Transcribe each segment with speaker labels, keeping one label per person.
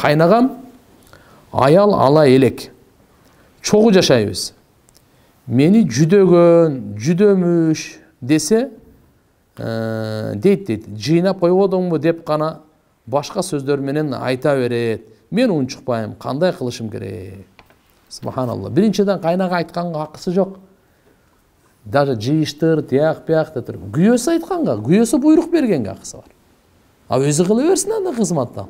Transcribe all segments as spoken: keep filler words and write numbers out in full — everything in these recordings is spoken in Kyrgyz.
Speaker 1: кайнагам аял ала элек. Чогуу жашайбыз. Мени жүдөгөн, жүдөмүш десе, дейт дейт. Жыйнап койбодуңбу деп гана башка сөздөр менен айта берет. Мен унчукпайм, кандай кылышым керек? Субханалла. Биринчиден кайнага айтканга акысы жок. Даже жыйыштыр, тияк пияк деп туруп, күйөөсү айтканга, күйөөсү буйрук бергенге акысы бар. А өзү кыла берсин анда кызматты.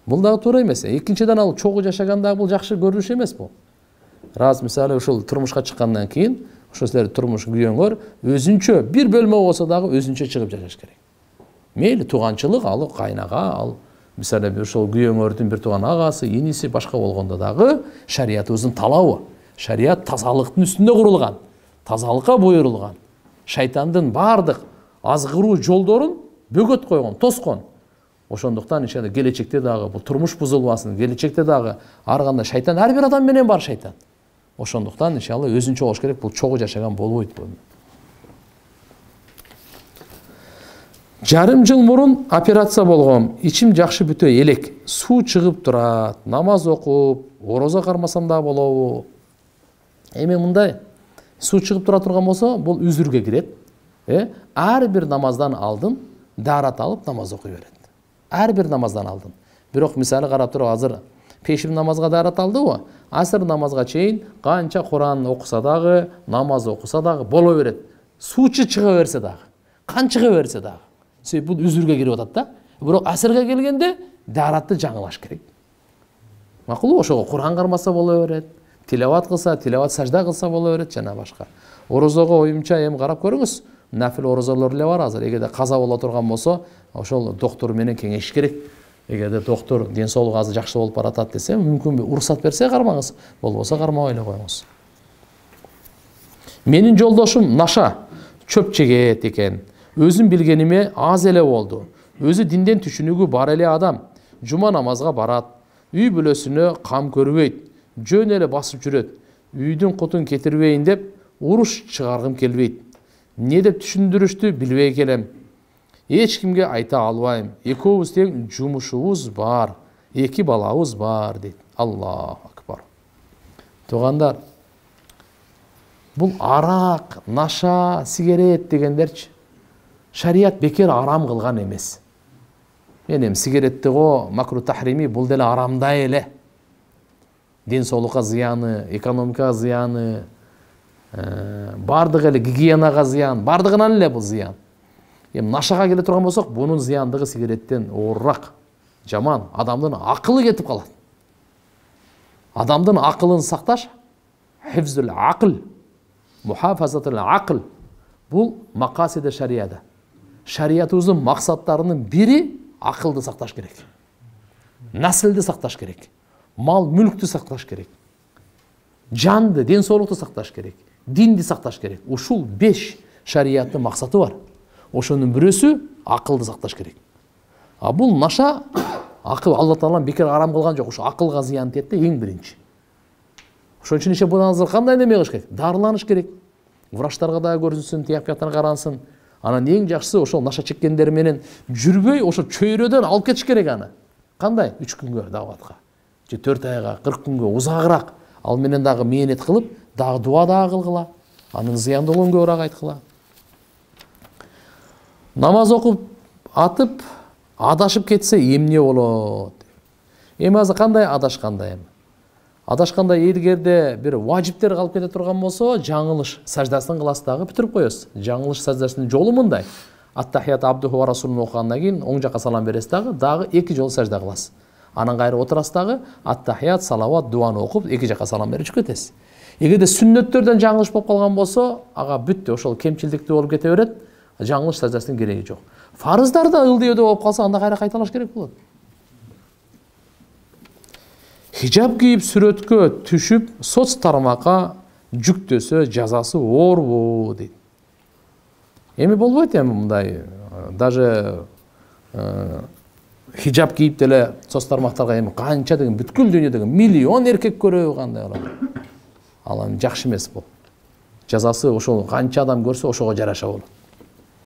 Speaker 1: Бул дагы туура эмес. Экинчиден ал чогуу жашаганда бул жакшы көрүнүш эмес бул. Раз мисалы ушул турмушка чыккандан кийин, ошо силер турмуш күйөөңөр өзүнчө бир бөлмө болсо дагы өзүнчө чыгып жашаш керек. Мейли тууганчылык, ал кайнага, ал мисалы ушул күйөөңөрдүн бир тууган агасы, иниси башка болгондо дагы шариятыбыздын талабы. Шарият тазалыктын үстүндө курулган, тазалыкка буйрулган. Шайтандын бардык азгыруу жолдорун бөгөт койгон, тоскон. Ошондуктан иншалла келечекте дагы бул турмуш бузулбасын, келечекте дагы ар кандай шайтан ар бир адам менен бар шайтан. Ошондуктан иншалла өзүнчө болуш керек, бул чогуу жашаган болбойт бул. Жарым жыл мурун операция болгом. Ичим жакшы бүтө элек. Суу чыгып турат. Намаз окуп, орозо кармасам да болобу? Эми мындай суу чыгып тура турган болсо, бул үзүргө кирет. Э, ар бир намаздан алдын даарат алып намаз окуй берет. Ар бир намаздан алдын. Бирок мисалы карап туруп азыр пешим намазга даарат алдыбы? Асыр намазга чейин канча Куран окуса дагы, намаз окуса дагы боло берет. Суучу чыга берсе дагы, кан чыга берсе дагы. Себеби бул үзүргө кирип атат да. Бирок асырга келгенде дааратты жаңылаш керек. Макулбу? Ошого Куран кармаса боло берет. Тилават кылса, тилават сажда кылса боло берет жана башка. Орозого оюмча эми карап көрүңүз. Нафил орозолор эле бар азыр. Эгерде каза боло турган болсо, ошол доктор менен кеңешиш керек. Эгерде доктор ден соолугу азыр жакшы болуп баратат десе, мүмкүн уруксат берсе кармаңыз, болбосо кармабай эле коюңуз. Менин жолдошум наша, чөп чегет экен. Өзүм билгениме аз эле болду. Өзү динден түшүнүгү бар эле адам. Жума намазга барат. Үй бүлөсүнө кам көрбөйт. Жөн эле басып жүрөт. Үйдүн кутун кетирбейин деп уруш чыгаргым келбейт. Не деп түшүндүрүштү билбей келем. Эч кимге айта албайм. Экөөбүз тең жумушубуз бар. Эки балабыз бар дейт. Аллаху акбар. Туугандар, бул арак, наша, сигарет дегендерчи шарият бекер арам кылган эмес. Мен эми сигаретти го макру тахрими бул деле арамдай эле. Ден соолукка зыяны, экономикага зыяны, бардыгы эле гигиенага зыян, бардыгынан эле бул зыян. Эми нашага келе турган болсок, бунун зыяндыгы сигареттен оорураак, жаман, адамдын акылы кетип калат. Адамдын акылын сакташ, хифзул акл, мухафазатул акл, бул макасиде шарияда. Шариятыбыздын максаттарынын бири акылды сакташ керек. Наслды сакташ керек. Мал мүлктү сакташ керек. Жанды, ден соолукту сакташ керек. Динди сакташ керек. Ушул беш шарияттын максаты бар. Ошонун бирөөсү акылды сакташ керек. А бул наша акыл Алла Таалам бекер арам кылган жок. Ушу акылга зыян тиет да эң биринчи. Ошон үчүн иши будан азыр кандай неме кылыш керек? Дарыланыш керек. Врачтарга да көрүнсүн, тияк бияктан карансın. Анан эң жакшысы ошол наша чеккендер менен жүрбөй, ошо чөйрөдөн алып кетиш керек аны. Кандай? үч күнгө даватка. же төрт айга, кырк күнгө узагыраак ал менен дагы мээнет кылып, дагы дуа дагы кылгыла. Анын зыяндуулугун көбүрөөк айткыла. Намаз окуп атып, адашып кетсе эмне болот? Эми азыр кандай адашканда эми? Адашканда эгерде бир важиптер калып кете турган болсо, жаңылыш саждасын кыласыз дагы бүтүрүп коесуз. Жаңылыш саждасынын жолу мындай. Ат-тахият абдуху ва расулун окугандан кийин оң жакка салам бересиз дагы, дагы эки жолу сажда кыласыз. Анан кайра отурасыз дагы, ат-тахият, салават, дуаны окуп, эки жакка салам берип чыгып кетесиз. Эгерде сүннөттөрдөн жаңылыш болуп калган болсо, ага бүттү, ошол кемчилдиктүү болуп кете берет. Жаңылыш саждасынын кереги жок. Фарыздарда ылдыйдө болуп калса, анда кайра кайталаш керек болот. Хижаб кийип сүрөткө түшүп, соц тармакка жүктөсө жазасы оорбу дейт. Эми болбойт эми мындай, даже хижаб кийип деле соц тармактарга эми канча деген бүткүл дүйнөдөгү миллион эркек көрөбү кандай болот. Ал эми жакшы эмес бул. Жазасы ошол канча адам көрсө ошого жараша болот.